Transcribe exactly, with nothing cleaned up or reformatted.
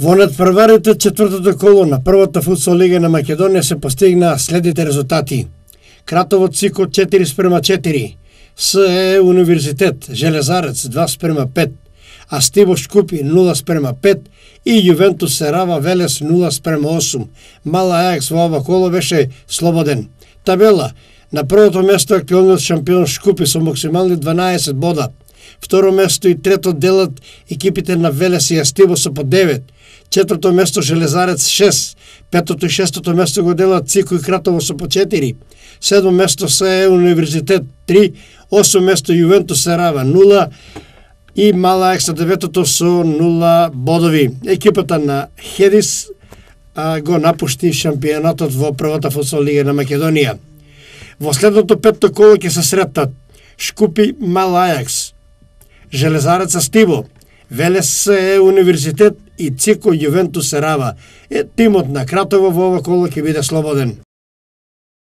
Во надпреварите четвртото коло на првата футсал лига на Македонија се постигнаа следните резултати. Кратово Цико четири спрема четири, СЕ Универзитет Железарец два спрема пет, Астиво Шкупи нула спрема пет и Јувентус Серава Велес нула спрема осум. Мала Ајакс во ова коло беше слободен. Табела: на првото место актуелниот шампион Шкупи со максимални дванаесет бода. Второ место и трето делат екипите на Велес и Астиво со по девет. Четврто место Железарец шест, петото и шестото место го делат Цико и Кратово со по четири. Седмо место СЕ Универзитет три, осмо место Јувентус Серава нула и Мала Ајакс на деветото со нула бодови. Екипата на Хедис а, го напушти шампионатот во првата футсал лига на Македонија. Во следното петто коло ќе се сретнат Шкупи Мала Ајакс, Железарец Астиво, Велес СЕ Универзитет и Цико Јувентус Серава. Е, тимот на Кратово во ова коло ќе биде слободен.